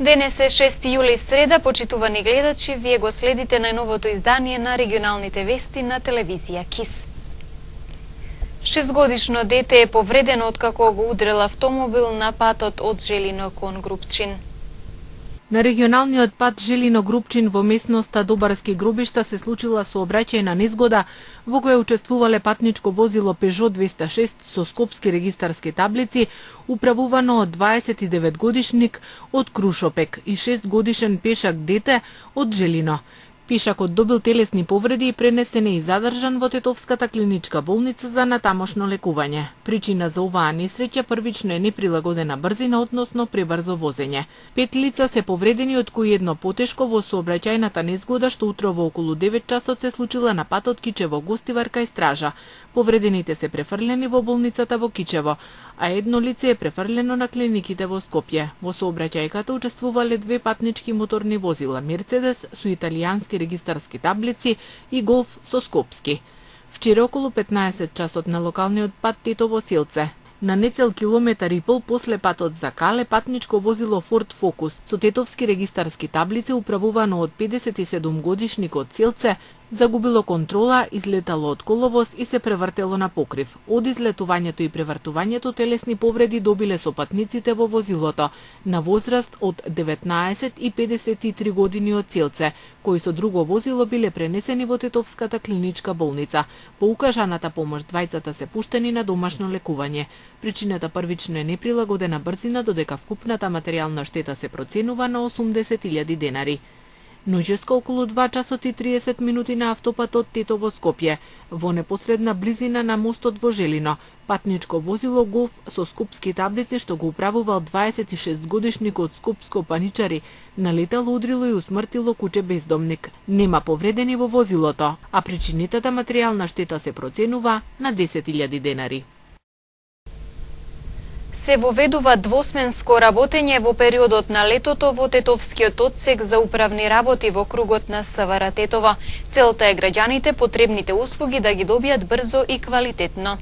Денес е 6 јули, среда, почитувани гледачи, вие го следите најновото издание на регионалните вести на телевизија КИС. 6-годишно дете е повредено откако го удрил автомобил на патот од Желино кон Грубчин. На регионалниот пат Желино-Грубчин во местноста Добарски гробишта се случила сообраќајна незгода во која учествувале патничко возило Peugeot 206 со скопски регистарски таблици, управувано од 29 годишник од Крушопек и 6 годишен пешак дете од Желино. Пешакот добил телесни повреди и пренесен и задржан во Тетовската клиничка болница за натамошно лекување. Причина за оваа несреќа првично е неприлагодена брзина, односно пребрзо возење. 5 лица се повредени, од кои едно потешко во сообраќајната незгода што утрово околу 9 часот се случила на патот Кичево-Гостивар кај Стража. Повредените се префрлени во болницата во Кичево, а едно лице е префрлено на клиниките во Скопје. Во сообраќајката учествувале 2 патнички моторни возила, Мерцедес со италијански регистарски таблици и Голф со скопски. Вчера околу 15 часот на локалниот пат Тетово-Силце. На нецел километар и пол после патот за Кале, патничко возило Ford Focus со тетовски регистарски таблици, управувано од 57 годишник од Силце, загубило контрола, излетало од коловоз и се превртело на покрив. Од излетувањето и превртувањето телесни повреди добиле сопатниците во возилото, на возраст од 19 и 53 години од Силце, кои со друго возило биле пренесени во Тетовската клиничка болница. По укажаната помош двајцата се пуштени на домашно лекување. Причината првично е неприлагодена брзина, додека вкупната материјална штета се проценува на 80.000 денари. Ноќеско околу 2 часот и 30 минути на автопатот Тетово-Скопје, во непосредна близина на мостот во Желино, патничко возило Голф со скопски таблици што го управувал 26 годишник од Скопско Паничари, налетало, удрило и усмртило куче бездомник. Нема повредени во возилото, а причинитата материјална штета се проценува на 10.000 денари. Се воведува двосменско работење во периодот на летото во Тетовскиот одсек за управни работи во кругот на СВР Тетово. Целта е граѓаните потребните услуги да ги добијат брзо и квалитетно.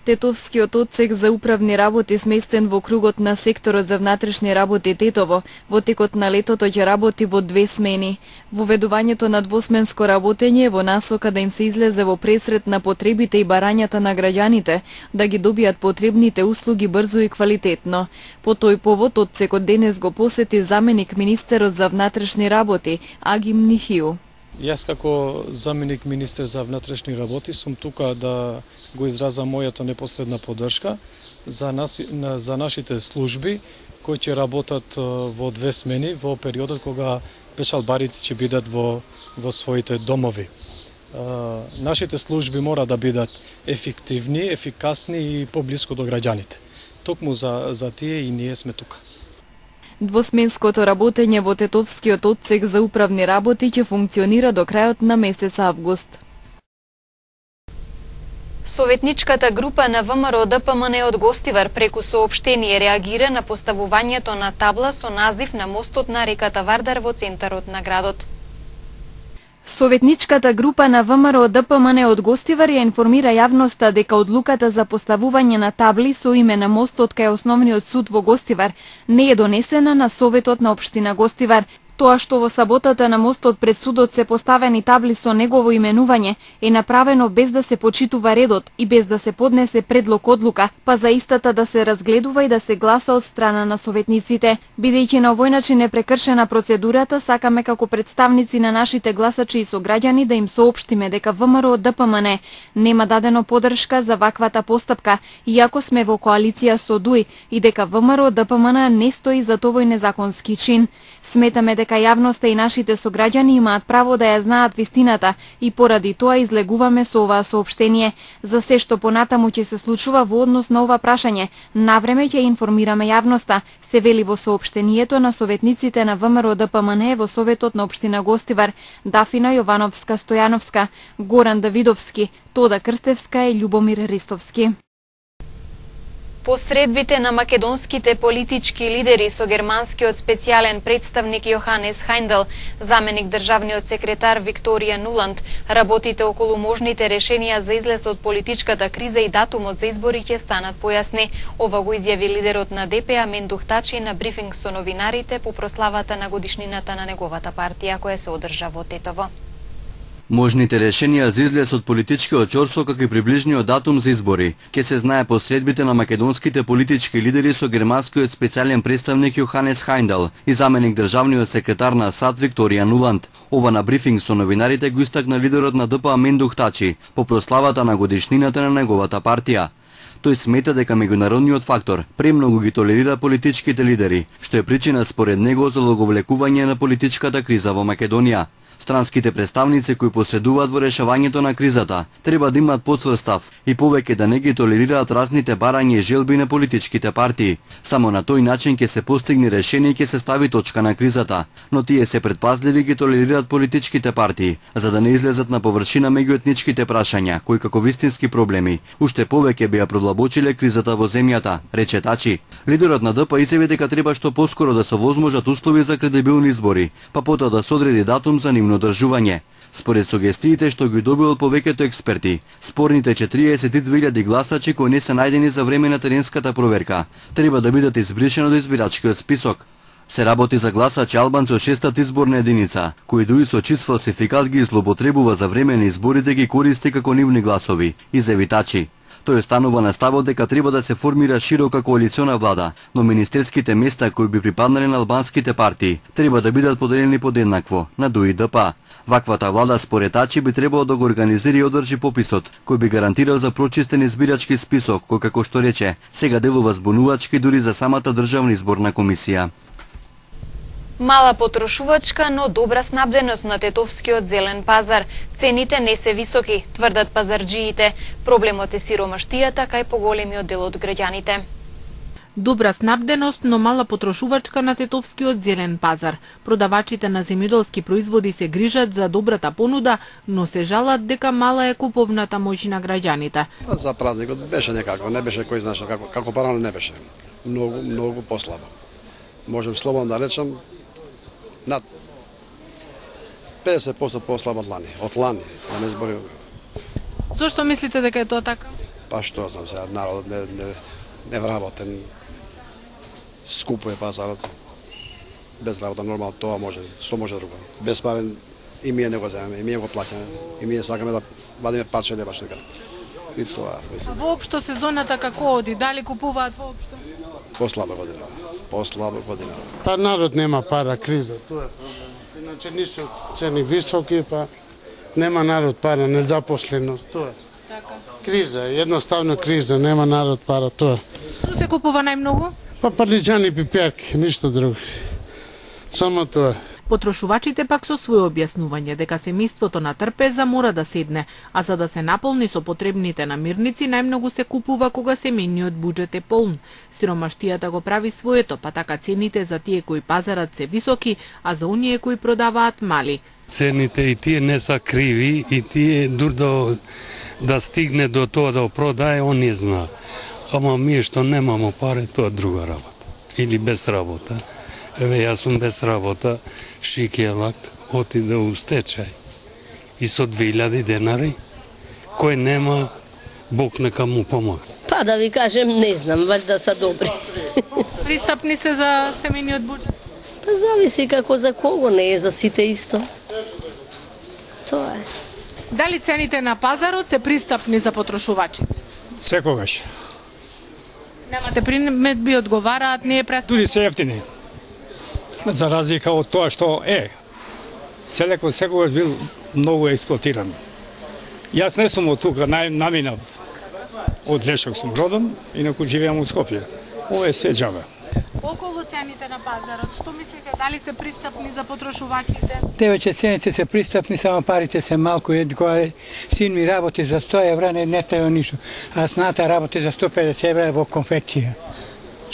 Тетовскиот одсек за управни работи сместен во кругот на секторот за внатрешни работи Тетово, во текот на летото ќе работи во 2 смени. Воведувањето на двосменско работење е во насока да им се излезе во пресрет на потребите и барањата на граѓаните, да ги добијат потребните услуги брзо и квалитетно. По тој повод одсекот денес го посети заменик министерот за внатрешни работи Агим Нихиу. Јас како заменик министер за внатрешни работи сум тука да го изразам мојата непосредна поддршка за нашите служби кои ќе работат во 2 смени во периодот кога пешалбарите ќе бидат во своите домови. Нашите служби мора да бидат ефективни, ефикасни и поблиску до граѓаните. Токму за тие и ние сме тука. Двосменското работење во Тетовскиот одсек за управни работи ќе функционира до крајот на месец август. Советничката група на ВМРО ДПМН од Гостивар преку соопштение реагира на поставувањето на табла со назив на мостот на реката Вардар во центарот на градот. Советничката група на ВМРО ДПМН од Гостивар ја информира јавноста дека одлуката за поставување на табли со име на мостот кај Основниот суд во Гостивар не е донесена на Советот на општина Гостивар. Тоа што во саботата на мостот пред судот се поставени табли со негово именување е направено без да се почитува редот и без да се поднесе предлог одлука, па за истата да се разгледува и да се гласа од страна на советниците. Бидејќи на овој начин е прекршена процедурата, сакаме како представници на нашите гласачи и сограѓани да им соопштиме дека ВМРО ДПМН нема дадено поддршка за ваквата постапка, иако сме во коалиција со ДУИ, и дека ВМРО ДПМН не стои за овој незаконски чин. Сметаме дека јавноста и нашите сограѓани имаат право да ја знаат вистината и поради тоа излегуваме со оваа соопштение. За се што понатаму ќе се случува во однос на ова прашање, навреме ќе информираме јавноста, се вели во соопштението на советниците на ВМРО ДПМН во Советот на општина Гостивар, Дафина Јовановска-Стојановска, Горан Давидовски, Тода Крстевска и Љубомир Ристовски. Посредбите на македонските политички лидери со германскиот специјален представник Јоханес Хајндел, заменик државниот секретар Викторија Нуланд, работите околу можните решенија за излез од политичката криза и датумот за избори ќе станат појасни. Ова го изјави лидерот на ДП Амендух Тачи на брифинг со новинарите по прославата на годишнината на неговата партија која се одржа во Тетово. Можните решенија за излез од политичкиот чорсо како и приближниот датум за избори ќе се знае посредбите на македонските политички лидери со германскиот специјален представник Јоханес Хајндел и заменик државниот секретар на САД Викторија Нуланд. Ова на брифинг со новинарите го истакна лидерот на ДП Амендух Тачи по прославата на годишнината на неговата партија. Тој смета дека меѓународниот фактор премногу ги толерира политичките лидери, што е причина според него за одговлекување на политичката криза во Македонија. Странските представници кои посредуваат во решавањето на кризата треба да имаат потврд став и повеќе да не ги толерираат разните барања и желби на политичките партии. Само на тој начин ќе се постигне решение и ќе се стави точка на кризата, но тие се предпазливи ги толерираат политичките партии, за да не излезат на површина меѓуетничките прашања, кои како вистински проблеми уште повеќе би ја продлабочиле кризата во земјата, рече Тачи. Лидерот на ДП изјави дека треба што поскоро да се овозможат услови за кредибилни избори, па потоа да се одреди датум за нивно одржување. Според сугестиите што ги добил од повеќето експерти, спорните 42.000 гласачи кои не се најдени за време на теренската проверка треба да бидат избришени од избирачкиот список. Се работи за гласачи албанци од 6-та изборна единица, кои дуи со чист фалсификат ги злоупотребува за време на изборите ги користи како нивни гласови, изјави Тачи. Тој останува на ставот дека треба да се формира широка коалициона влада, но министерските места кои би припаднале на албанските партии треба да бидат поделени подеднакво на ДУИ ДП. Ваквата влада според Тачи би требало да го организира и одржи пописот, кој би гарантирал за прочистен избирачки список, кој како што рече, сега делува збунувачки дури за самата државна изборна комисија. Мала потрошувачка, но добра снабденост на тетовскиот зелен пазар. Цените не се високи, тврдат пазарџиите. Проблемот е сиромаштијата кај поголемиот дел од граѓаните. Добра снабденост, но мала потрошувачка на тетовскиот зелен пазар. Продавачите на земјоделски производи се грижат за добрата понуда, но се жалат дека мала е куповната моќ на граѓаните. За празникот беше некако, не беше кој знаше како порано не беше. Многу послабо. Можем слободно да речем над 50% послабо од лани, да не зборим. Зошто мислите дека е тоа така? Па што знам сега, народот не вработен, скупо е пазарот. Без работа нормално тоа може, што може друго. Без парен и ние не го земеме, и ние го плаќаме, и ние сакаме да вадиме парче леба што некаде. И тоа, мислам. Воопшто сезоната како оди, дали купуваат воопшто? Послаба година. Па народ нема пара, криза, тоа е проблем. Иначе нису цени високи, па нема народ пара, незапосленост, тоа е. Така. Криза, едноставно криза, нема народ пара, тоа. Што се купува најмногу? Па парлиџани, пиперки, ништо друго. Само тоа. Потрошувачите пак со своје објаснување дека семејството на трпеза мора да седне, а за да се наполни со потребните намирници најмногу се купува кога семејниот буџет е полн. Сиромаштијата го прави своето, па така цените за тие кои пазарат се високи, а за оние кои продаваат мали. Цените и тие не са криви и тие дур да стигне до тоа да продае, он не зна. Ама ние што немамо пари, тоа друга работа. Или без работа. Еве, јас сум без работа, Шикелак отиде у стечај. И со 2000 денари, кој нема, Бог нека му помогне. Па да ви кажем, не знам, валјда са добри. Пристапни се за семејниот буџет? Па зависи како за кого, не е за сите исто. Тоа е. Дали цените на пазарот се пристапни за потрошувачи? Секогаш. Немате приметби, одговараат, не е прескапно? Дури се ефтини. За разлика од тоа што е. Селекот секогаш бил многу експлоатиран. Јас не сум од тука, наминав од Лешок сум родом, инаку живеам од Скопје. Ова е се џабе. Околу цените на пазарот, што мислите, дали се пристапни за потрошувачите? Девече цените се пристапни, само парите се малку. Кога син ми работи за 100 евра, не треба ништо. А сната работи за 150 евра во конфекција.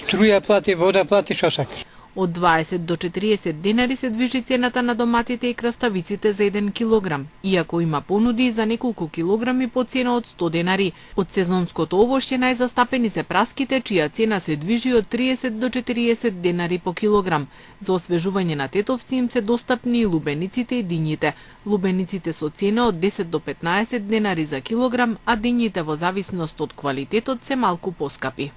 Струја плати, вода плати, што сакаш. Од 20 до 40 денари се движи цената на доматите и краставиците за 1 килограм, иако има понуди за неколку килограми по цена од 100 денари. Од сезонското овошје најзастапени се праските, чија цена се движи од 30 до 40 денари по килограм. За освежување на тетовци им се достапни и лубениците и дињите. Лубениците со цена од 10 до 15 денари за килограм, а дињите во зависност од квалитетот се малку поскапи.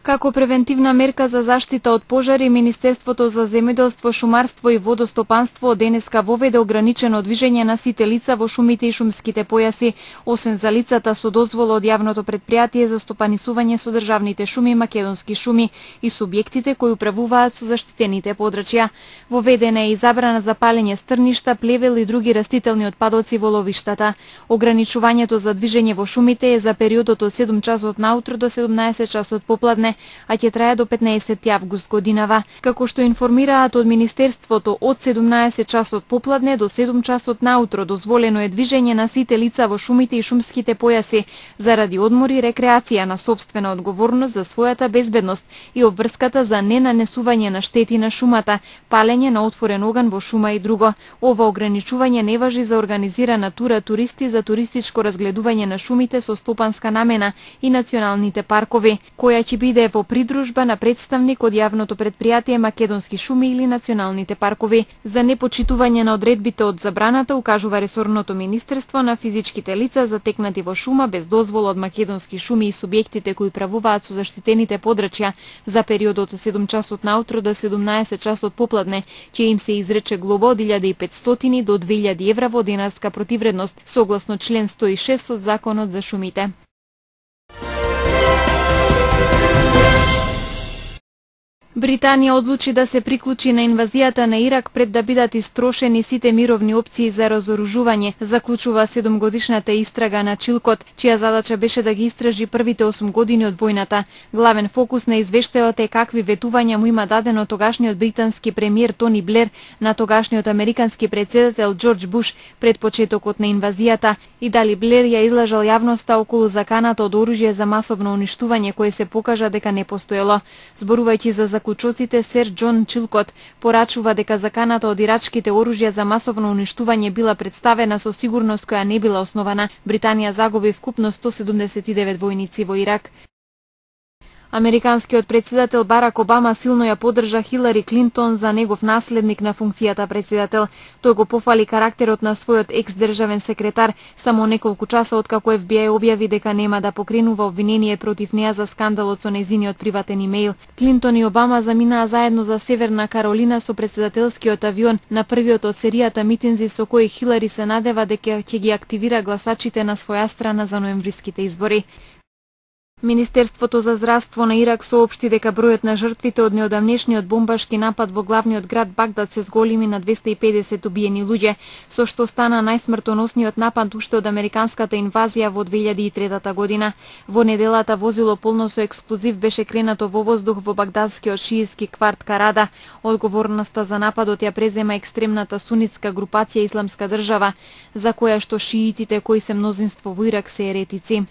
Како превентивна мерка за заштита од пожари, Министерството за земјоделство, шумарство и водостопанство денеска воведе ограничено движење на сите лица во шумите и шумските појаси, освен за лицата со дозвола од јавното предпријатие за стопанисување со државните шуми, македонски шуми и субјектите кои управуваат со заштитените подрачја. Воведена е и забрана за палење стрништа, плевел и други растителни отпадоци во ловиштата. Ограничувањето за движење во шумите е за периодот од 7 часот наутро до 17 часот попладне, а ќе трае до 15 август годинава. Како што информираат од Министерството, од 17 часот попладне до 7 часот наутро дозволено е движење на сите лица во шумите и шумските појаси заради одмор и рекреација на сопствена одговорност за својата безбедност и обврската за ненанесување на штети на шумата, палење на отворен оган во шума и друго. Ова ограничување не важи за организирана тура туристи за туристичко разгледување на шумите со стопанска намена и националните паркови, која ќе биде во придружба на представник од јавното предпријатие Македонски шуми или националните паркови. За непочитување на одредбите од забраната укажува ресорното министерство на физичките лица затекнати во шума без дозвола од Македонски шуми и субјектите кои правуваат со заштитените подрачја за периодот од 7 часот наутро до 17 часот попладне, ќе им се изрече глоба од 1500 до 2000 евра во денарска противредност, согласно член 106 од Законот за шумите. Британија одлучи да се приклучи на инвазијата на Ирак пред да бидат истрошени сите мировни опции за разоружување, заклучува 7-годишната истрага на Чилкот, чија задача беше да ги истражи првите 8 години од војната. Главен фокус на извештајот е какви ветувања му има дадено тогашниот британски премиер Тони Блер на тогашниот американски претседател Џорџ Буш пред почетокот на инвазијата и дали Блер ја излажал јавноста околу заканата од оружје за масовно уништување кое се покажа дека не постоело. Зборувајќи за заклучоците, сер Џон Чилкот порачува дека заканата од ирачките оружја за масовно уништување била представена со сигурност која не била основана. Британија загуби вкупно 179 војници во Ирак. Американскиот претседател Барак Обама силно ја поддржа Хилари Клинтон за негов наследник на функцијата претседател. Тој го пофали карактерот на својот екс-државен секретар само неколку часа откако FBI објави дека нема да покренува обвинение против неа за скандалот со нејзиниот приватен имејл. Клинтон и Обама заминаа заедно за Северна Каролина со претседателскиот авион на првиот од серијата митинзи со кои Хилари се надева дека ќе ги активира гласачите на своја страна за ноемвриските избори. Министерството за здравство на Ирак соопшти дека бројот на жртвите од неодамнешниот бомбашки напад во главниот град Багдад се зголеми на 250 убиени луѓе, со што стана најсмртоносниот напад уште од американската инвазија во 2003 година. Во неделата возило полно со експлозив беше кренато во воздух во багдадскиот шиитски кварт Карада. Одговорноста за нападот ја презема екстремната сунитска групација Исламска држава, за која што шиитите кои се мнозинство во Ирак се еретици.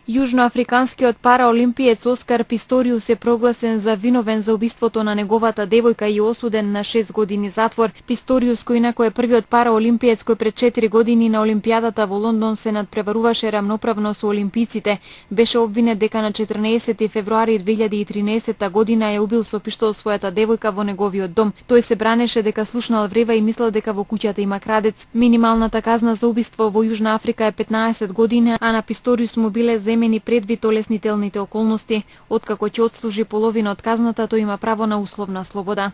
Јужноафриканскиот параолимпиец Оскар Писториус е прогласен за виновен за убиството на неговата девојка и осуден на 6 години затвор. Писториус, кој инаку е првиот параолимпиец кој пред 4 години на Олимпијадата во Лондон се надпреваруваше рамноправно со олимпиците, беше обвинет дека на 14 февруари 2013 година ја убил со пиштол својата девојка во неговиот дом. Тој се бранеше дека слушнал врева и мислел дека во куќата има крадец. Минималната казна за убиство во Јужна Африка е 15 години, а на Писториус му биле земени предвид олеснителните околности. Откако ќе отслужи половина од казната, тој има право на условна слобода.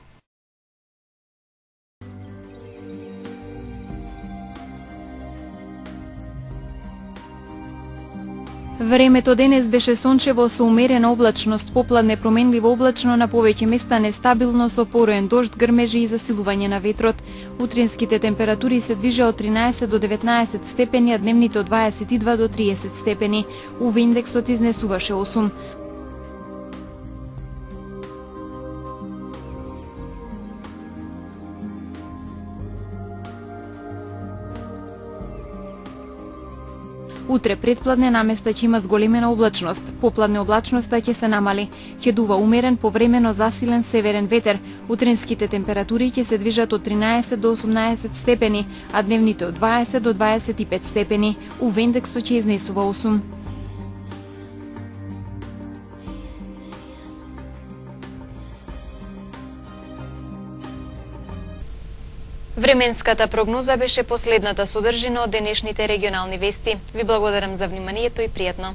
Времето денес беше сончево со умерена облачност, попладне променливо облачно, на повеќе места нестабилно со пороен дожд, грмежи и засилување на ветрот. Утринските температури се движеа од 13 до 19 степени, а дневните од 22 до 30 степени. УВ индексот изнесуваше 8. Утре предпладне наместа ќе има зголемена облачност. Попладне облачноста ќе се намали. Ќе дува умерен повремено засилен северен ветер. Утринските температури ќе се движат од 13 до 18 степени, а дневните од 20 до 25 степени. УВ индексот ќе изнесува 8. Временската прогноза беше последната содржина од денешните регионални вести. Ви благодарам за вниманието и пријатно.